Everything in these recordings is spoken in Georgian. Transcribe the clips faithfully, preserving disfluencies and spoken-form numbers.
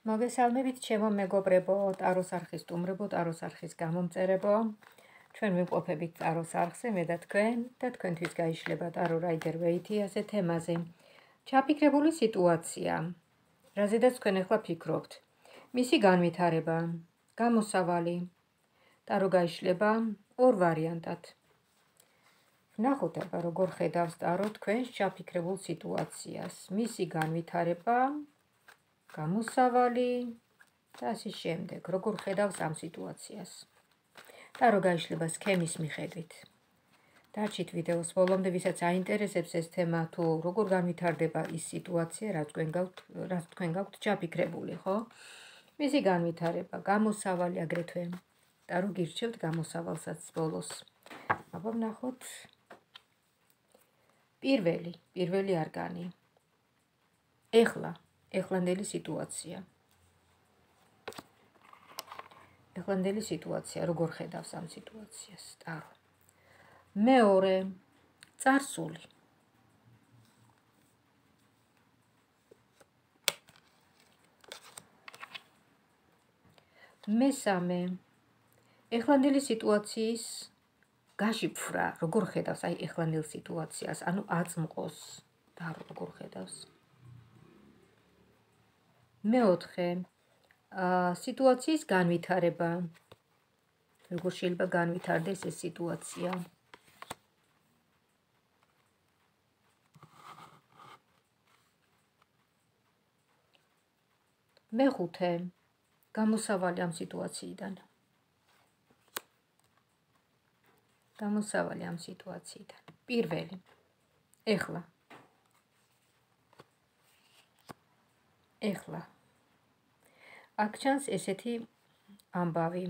მოგესალმებით ჩემო მეგობრებო, ტაროს არხის სტუმრებო, ტაროს არხის გამომწერებო. ჩვენ ვიმყოფებით ტაროს არხზე, მე და თქვენ და თქვენთვის გაიშლება ტარო რაიდერ ვეითი ასე თემაზე. ჩაფიქრებული სიტუაცია. რაზედაც თქვენ ახლა ფიქრობთ. მისი განვითარება, გამოსავალი. ტარო გაიშლება ორ ვარიანტად. ვნახოთ აბა როგორ ხედავს ტარო თქვენს ჩაფიქრებულ სიტუაციას. მისი განვითარება, გამოსავალი და ასე შემდეგ. როგორ ხედავს ამ სიტუაციას. ტარო გაიშლება სქემის მიხედვით. დარჩით ვიდეოს ბოლომდე, ვისაც აინტერესებს ეს თემა, თუ როგორ განვითარდება ის სიტუაცია, რაც თქვენ გაქვთ, რაც თქვენ გაქვთ ჩაფიქრებული, ხო? მისი განვითარება, გამოსავალი აგრეთვე. ტარო გირჩევთ გამოსავალსაც ბოლოს. აბა ვნახოთ. პირველი, პირველი არგანი. ეხლა, ეხლანდელი სიტუაცია. ეხლანდელი სიტუაცია, როგორ ხედავს ამ სიტუაციას, ტარო. მეორე, წარსული. მესამე, ეხლანდელი სიტუაციის გაშიფრა, როგორ ხედავს აი ეხლანდელ სიტუაციას, ანუ აწმყოს, ტარო როგორ ხედავს. მეოთხე, სიტუაციის განვითარება. როგორ შეიძლება განვითარდეს ეს სიტუაცია. მეხუთე, გამოსავალი ამ სიტუაციიდან. გამოსავალი ამ სიტუაციიდან. პირველი. ეხლა. ეხლა. აქ ჩანს ესეთი ამბავი.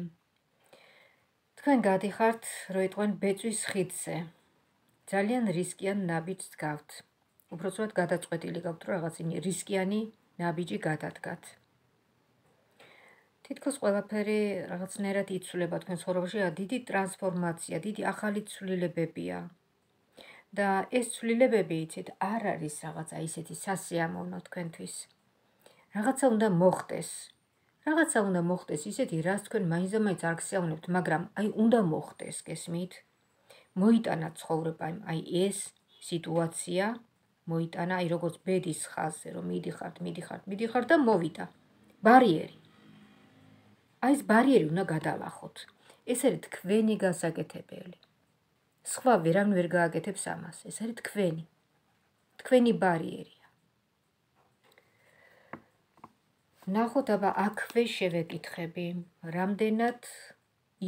თქვენ გადიხართ, რო იტყვენ ბეწვის ხიდზე. ძალიან რისკიან ნაბიჯს გავთ. უბრალოდ გადაწყვეტილი გაქვთ, რომ რაღაც რისკიანი ნაბიჯი გადადგათ. თითქოს ყველაფერი რაღაცნაირად იცვლება თქვენ ცხოვრებაში, დიდი ტრანსფორმაცია, დიდი ახალი ცვლილებებია. და ეს ცვლილებები, იცით, არ არის რაღაცა ისეთი სასიამოვნო თქვენთვის. რაღაცა უნდა მოხდეს. რაღაცა უნდა მოხდეს ისეთი, რაც თქვენ მაინც და მაინც არ გსიამოვნებთ, მაგრამ აი უნდა მოხდეს, გესმით? მოიტანა ცხოვრება, აი ეს სიტუაცია, მოიტანა აი როგორც ბედის ხაზზე, რომ მიდიხართ, მიდიხართ, მიდიხართ და მოვიდა. ბარიერი. აი ეს ბარიერი უნდა გადალახოთ. ეს არის თქვენი გასაკეთებელი. სხვა ვერავინ ვერ გააკეთებს ამას. ეს არის თქვენი. თქვენი ბარიერია. ნახოთ აბა აქვე შევეკითხები, რამდენად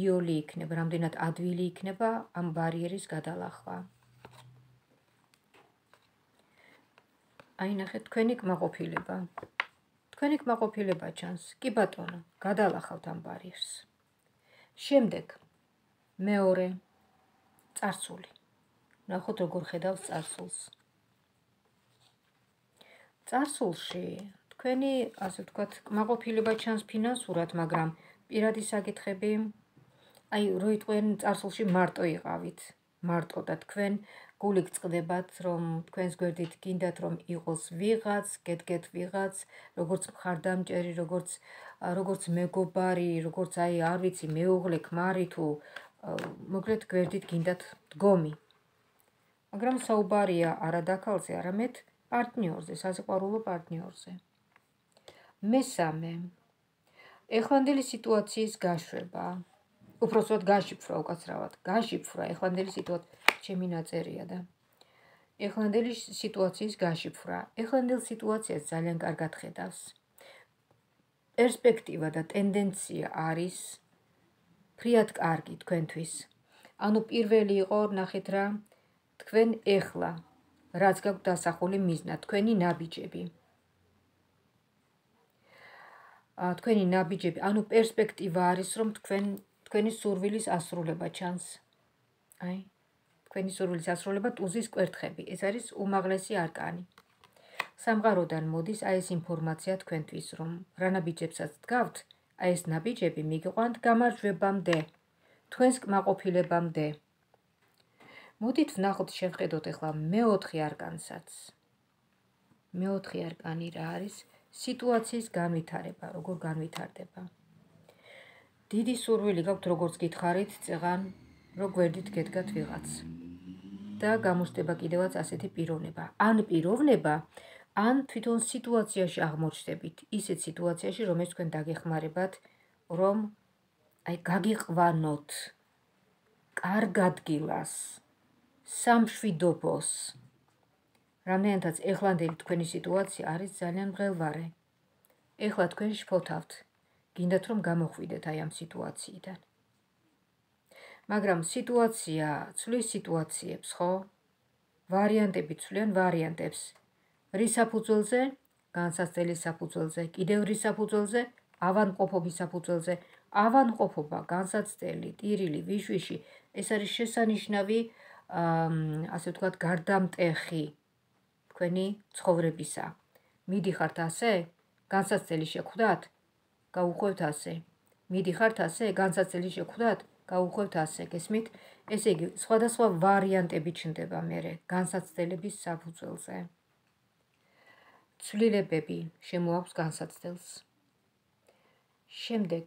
იოლი იქნება, რამდენად ადვილი იქნება ამ ბარიერის გადალახვა. აი ნახეთ, თქვენი კმაყოფილება. თქვენი კმაყოფილება ჩანს. კი ბატონო, გადალახავთ ამ ბარიერს. შემდეგ, მეორე, წარსული. ნახოთ როგორ ხედავს წარსულს. წარსულში თქვენი, ასე ვთქვათ, კმაყოფილება ჩანს ფინანსურად, მაგრამ პირადი საკითხები, აი რო იტყვენ წარსულში მარტო იყავით, მარტო და თქვენ გული გწყდებათ, რომ თქვენს გვერდით გინდათ, რომ იყოს ვიღაც, გედგეთ ვიღაც, როგორც მხარდამჭერი, როგორც როგორც მეგობარი, როგორც აი არ ვიცი, მეუღლე, ქმარი თუ მოკლედ გვერდით გინდათ დგომი. მაგრამ საუბარია არა დაქალზე, არამედ პარტნიორზე, სასიყვარულო პარტნიორზე. მესამე, ეხლანდელი სიტუაციის გაშვება. უпростоოდ გაშიფრვა, უკაცრავად, გაშიფრვა, ეხლანდელი სიტუაცია, ჩემი ნაწერია და ეხლანდელი სიტუაციის გაშიფრვა. ეხლანდელ სიტუაციას ძალიან კარგად ხედავს. პერსპექტივა და ტენდენცია არის ფრიად კარგი თქვენთვის. ანუ პირველი იყო, ნახეთ რა, თქვენ ეხლა, რაც გაქვთ დასახული მიზნა, თქვენი ნაბიჯები. თქვენი ნაბიჯები, ანუ პერსპექტივა არის, რომ თქვენ თქვენი სურვილის ასრულება ჩანს. აი, თქვენი სურვილის ასრულება ტუზის კვერთხები. ეს არის უმაღლესი არკანი. სამყაროდან მოდის აი ეს ინფორმაცია თქვენთვის, რომ რა ნაბიჯებსაც დგავთ, აი ეს ნაბიჯები მიგიყვანთ გამარჯვებამდე, თქვენს კმაყოფილებამდე. მოდით ვნახოთ, შევხედოთ ახლა მეოთხე არკანსაც. მეოთხე არკანი რა არის? სიტუაციის განვითარება, როგორ განვითარდება. დიდი სურვილი გაქვთ, როგორც გითხარით, წეღან, რომ გვერდით გედგათ ვიღაც. და გამოჩნდება კიდევაც ასეთი პიროვნება. ან პიროვნება, ან თვითონ სიტუაციაში აღმოჩნდებით, ისეთ სიტუაციაში, რომელიც თქვენ დაგეხმარებათ, რომ აი გაგიყვანოთ კარგ ადგილას, სამშვიდობოს. რამდენადაც ეხლანდელი თქვენი სიტუაცია არის ძალიან მღელვარე. ეხლა თქვენ შფოთავთ, გინდათ რომ გამოხვიდეთ აი ამ სიტუაციიდან. მაგრამ სიტუაცია ცვლის სიტუაციებს, ხო? ვარიანტები ცვლიან ვარიანტებს. რის საფუძველზე? განსაცდელის საფუძველზე, კიდევ რის საფუძველზე? ავადმყოფობის საფუძველზე. ავადმყოფობა, განსაცდელი, ტირილი, ვიშვიში, ეს არის შესანიშნავი, ასე ვთქვათ, გარდამტეხი თქვენი ცხოვრებისა. მიდიხართ ასე? განსაცდელი შეხვდათ? გაუხვევთ ასე. მიდიხართ ასე? განსაცდელი შეხვდათ? გაუხვევთ ასე. გესმით? ესე იგი, სხვადასხვა ვარიანტები ჩნდება მერე განსაცდელების საფუძველზე. ცვლილებები შემოაქვს განსაცდელს. შემდეგ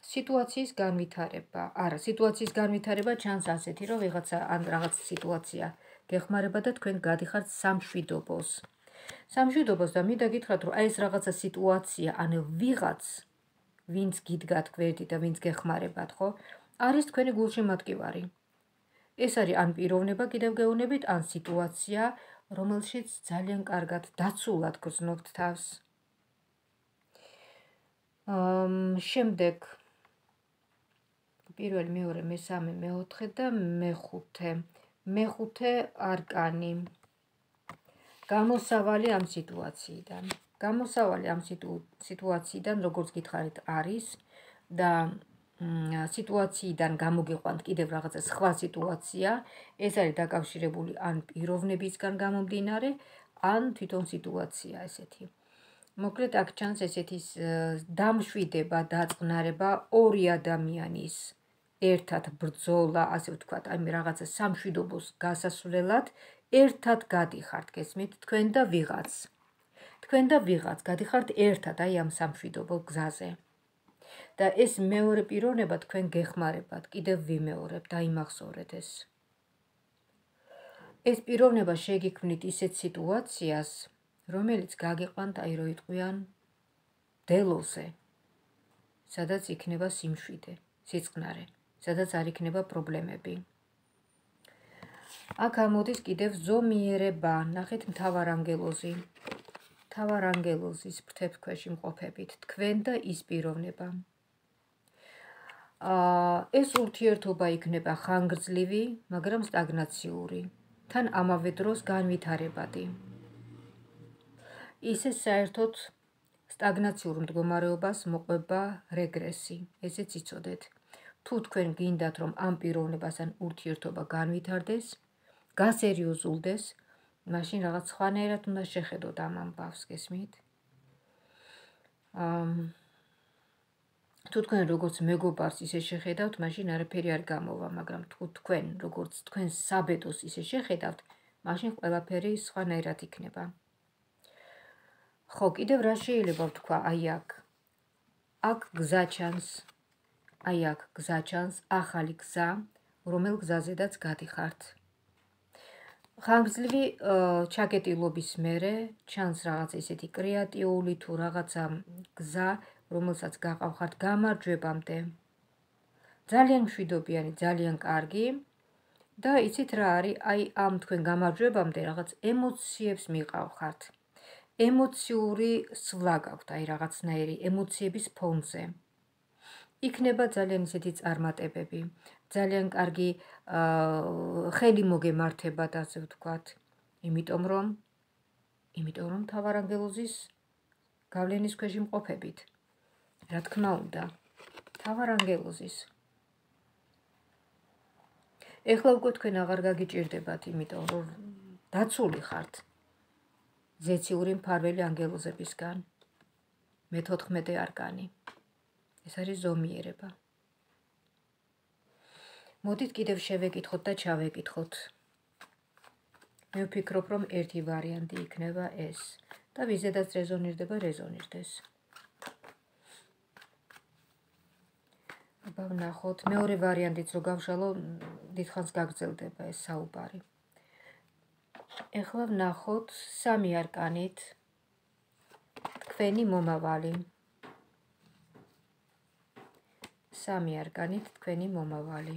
სიტუაციის განვითარება. არა, სიტუაციის განვითარება ჩანს ასეთი, რომ ვიღაცა ან რაღაც სიტუაცია გეხმარება და თქვენ გადიხართ სამშვიდობოს. სამშვიდობოს და მინდა გითხრათ, რომ აი ეს რაღაცა სიტუაცია, ან ვიღაც, ვინც გიდგათ გვერდით და ვინც გეხმარებათ, ხო? არის თქვენი გულშემატკივარი. ეს არის ან პიროვნება კიდევ გეუბნებით, ან სიტუაცია, რომელშიც ძალიან კარგად დაცულად გრძნობთ თავს. შემდეგ პირველი, მეორე, მესამე, მეოთხე და მეხუთე. მეხუთე არკანი. გამოსავალი ამ სიტუაციიდან. გამოსავალი ამ სიტუაციიდან, როგორც გითხარით, არის და სიტუაციიდან გამოგიყვანთ კიდევ რაღაცა სხვა სიტუაცია, ეს არის დაკავშირებული ან პიროვნებისგან გამომდინარე, ან თვითონ სიტუაცია ესეთი. მოკლედ აქ ჩანს ესეთი დამშვიდება, დაწყნარება ორი ადამიანის ერთად ბრძოლა, ასე ვთქვათ, აი რაღაცა სამშვიდობოს გასასვლელად ერთად გადიხართ, გესმით, თქვენ და ვიღაც. თქვენ და ვიღაც გადიხართ ერთად აი ამ სამშვიდობო გზაზე. და ეს მეორე პიროვნება თქვენ გეხმარებათ, კიდევ ვიმეორებ, დაიმახსოვრეთ ეს. ეს პიროვნება შეგიქმნით ისეთ სიტუაციას, რომელიც გაგიყვანთ აი რო იტყვიან დელოზე, სადაც იქნება სიმშვიდე, სიწყნარე, სადაც არ იქნება პრობლემები. აქ ამოდის კიდევ ზომიერება, ნახეთ მთავარანგელოზი. მთავარანგელოზის ფრთებს ქვეშ იმყოფებით, თქვენ და ის პიროვნება. ეს ურთიერთობა იქნება ხანგრძლივი, მაგრამ სტაგნაციური, თან ამავე დროს განვითარებადი. ისე საერთოდ სტაგნაციურ მდგომარეობას მოყვება რეგრესი, ესეც იცოდეთ. თუ თქვენ გინდათ, რომ ამ პიროვნებასთან ურთიერთობა განვითარდეს, გასერიოზულდეს, მაშინ რაღაც სხვანაირად უნდა შეხედოთ ამ ამბავს, გესმით? თუ თქვენ როგორც მეგობარს ისე შეხედავთ, მაშინ არაფერი არ გამოვა, მაგრამ თუ თქვენ როგორც თქვენ საბედოს ისე შეხედავთ, მაშინ ყველაფერი სხვანაირად იქნება. ხო, კიდევ რა შეიძლება ვთქვა აი აქ? აქ გზა ჩანს, აი აქ გზა ჩანს, ახალი გზა, რომელ გზაზედაც გადიხართ. ხანგრძლივი ჩაკეტილობის მერე ჩანს რაღაც ესეთი კრეატიული თუ რაღაცა გზა, რომელსაც გაყავხართ გამარჯვებამდე. ძალიან მშვიდობიანი, ძალიან კარგი და იცით რა არის, აი ამ თქვენ გამარჯვებამდე რაღაც ემოციებს მიყავხართ. ემოციური სვლა გაქვთ, აი რაღაცნაირი ემოციების ფონზე. იქნება ძალიან ისეთი წარმატებები, ძალიან კარგი ხელი მოგემართებათ, ასე ვთქვათ. იმიტომ რომ იმიტომ რომ მთავარანგელოზის გავლენის ქვეშ იმყოფებით. რა თქმა უნდა, მთავარანგელოზის. ეხლა უკვე თქვენ აღარ გაგიჭირდებათ, იმიტომ რომ დაცული ხართ ზეციური მფარველი ანგელოზებისგან. მეთოთხმეტე არკანი. ეს არის ზომიერება. მოდით კიდევ შევეკითხოთ და ჩავეკითხოთ. მე ვფიქრობ, რომ ერთი ვარიანტი იქნება ეს. და ვიზედაც რეზონირდება, რეზონირდეს. აბა ვნახოთ, მეორე ვარიანტიც რო გავშალო, დიდხანს გაგრძელდება ეს საუბარი. ეხლა ვნახოთ სამი არკანით თქვენი მომავალი. სამი არკანით თქვენი მომავალი.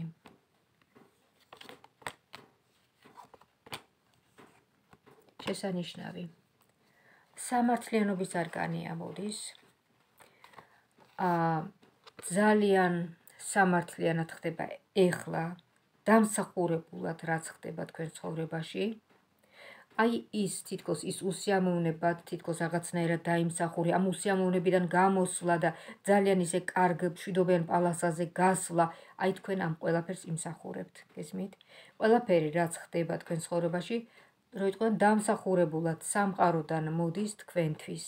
შესანიშნავი. სამართლიანობის არკანი ამოდის. აა ძალიან სამართლიანად ხდება ეხლა, დამსახურებულად რაც ხდება თქვენ ცხოვრებაში. აი ის თითქოს ის უსიამოვნებად, თითქოს რაღაცნაირად დაიმსახური, ამ უსიამოვნებიდან გამოსვლა და ძალიან ისე კარგ მშვიდობიან პალასაზე გასვლა, აი თქვენ ამ ყველაფერს იმსახურებთ, გესმით? ყველაფერი რაც ხდება თქვენ ცხოვრებაში, რო იტყვიან დამსახურებულად სამყაროდან მოდის თქვენთვის.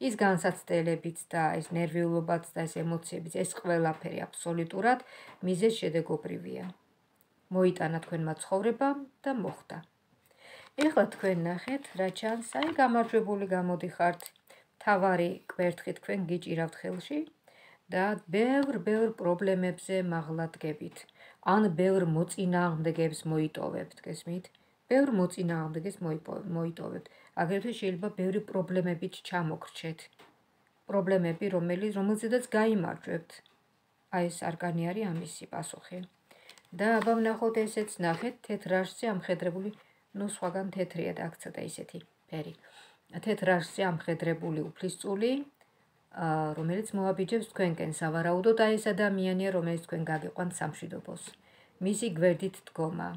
ის განსაცდელებიც და ეს ნერვიულობაც და ეს ემოციებიც, ეს ყველაფერი აბსოლუტურად მიზეზშედეგობრივია. მოიტანა თქვენმა ცხოვრებამ და მოხდა. ეხლა თქვენ ნახეთ, რა ჩანს, აი გამარჯვებული გამოდიხართ, თავარი კვერთხი თქვენ გიჭირავთ ხელში და ბევრ-ბევრ პრობლემებზე მაღლა დგებით. ან ბევრ მოწინააღმდეგეებს მოიტოვებთ, გესმით? ბევრ მოწინააღმდეგეს მოიტოვებთ. აგრეთვე შეიძლება ბევრი პრობლემებით ჩამოგრჩეთ. პრობლემები, რომელიც რომელზედაც გაიმარჯვებთ. აი ეს არკანი არის ამისი პასუხი. და აბა ვნახოთ ესეც ნახეთ, თეთრ რაშზე ამხედრებული, ნუ სხვაგან თეთრია და აქ ცოტა ისეთი ფერი. თეთრ რაშზე ამხედრებული უფლისწული, რომელიც მოაბიჯებს თქვენკენ სავარაუდოდ აი ეს ადამიანია, რომელიც თქვენ გაგიყვანთ სამშვიდობოს. მისი გვერდით დგომა.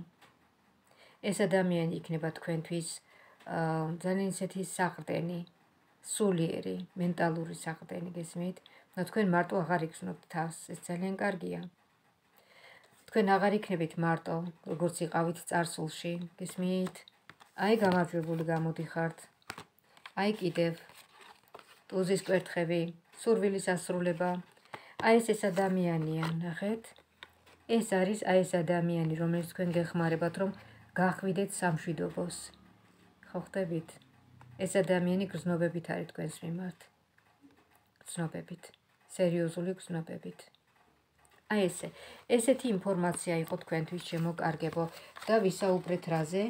ეს ადამიანი იქნება თქვენთვის ძალიან ისეთი საყრდენი, სულიერი, მენტალური საყრდენი, გესმით? და თქვენ მარტო აღარ იგრძნობთ თავს, ეს ძალიან კარგია. თქვენ აღარ იქნებით მარტო, როგორც იყავით წარსულში, გესმით? აი გამარჯვებული გამოდიხართ. აი კიდევ ტუზის კვერთხები, სურვილის ასრულება. აი ეს ეს ადამიანია, ნახეთ? ეს არის აი ეს ადამიანი, რომელიც თქვენ გეხმარებათ, რომ გახვიდეთ სამშვიდობოს. ხო ხდებით? ეს ადამიანი გრძნობებით არის თქვენს მიმართ. გრძნობებით. სერიოზული გრძნობებით. აი ესე. ესეთი ინფორმაცია იყო თქვენთვის, შემოკარგებო და ვისაუბრეთ რაზე?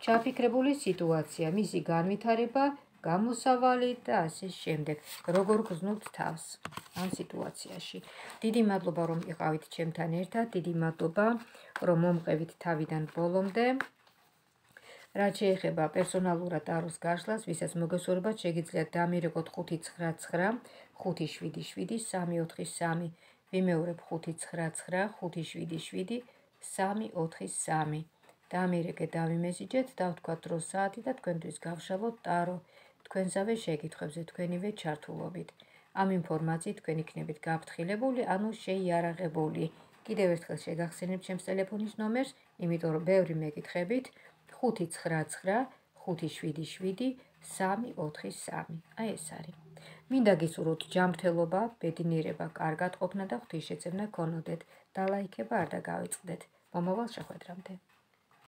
ჩაფიქრებული სიტუაცია, მისი განვითარება, გამოსავალი და ასე შემდეგ. როგორ გრძნობთ თავს ამ სიტუაციაში. დიდი მადლობა, რომ იყავით ჩემთან ერთად, დიდი მადლობა, რომ მომყევით თავიდან ბოლომდე. რაც შეეხება პერსონალურად ტაროს გაშლას, ვისაც მოგესურვებათ, შეგიძლიათ დამირეკოთ ხუთი ცხრა ცხრა ხუთი შვიდი შვიდი სამი ოთხი სამი. ვიმეორებ ხუთი ცხრა ცხრა ხუთი შვიდი შვიდი სამი ოთხი სამი. დამირეკეთ, დავიმესიჯეთ, დავთქვათ დრო საათი და თქვენთვის გავშალოთ ტარო. თქვენსავე შეკითხვებზე, თქვენივე ჩართულობით. ამ ინფორმაციით თქვენ იქნებით გაფრთხილებული, ანუ შეიარაღებული. კიდევ ერთხელ შეგახსენებთ ჩემს ტელეფონის ნომერს, იმიტომ რომ ბევრი მეკითხებით ხუთი ცხრა ცხრა ხუთი შვიდი შვიდი სამი ოთხი სამი. აი ეს არის. მინდა გისურვოთ ჯანმრთელობა, ბედნიერება, კარგად ყოფნა და ღვთისშეწევნა გქონოდეთ. დალაიქება არ დაგავიწყდეთ. მომავალ შეხვედრამდე.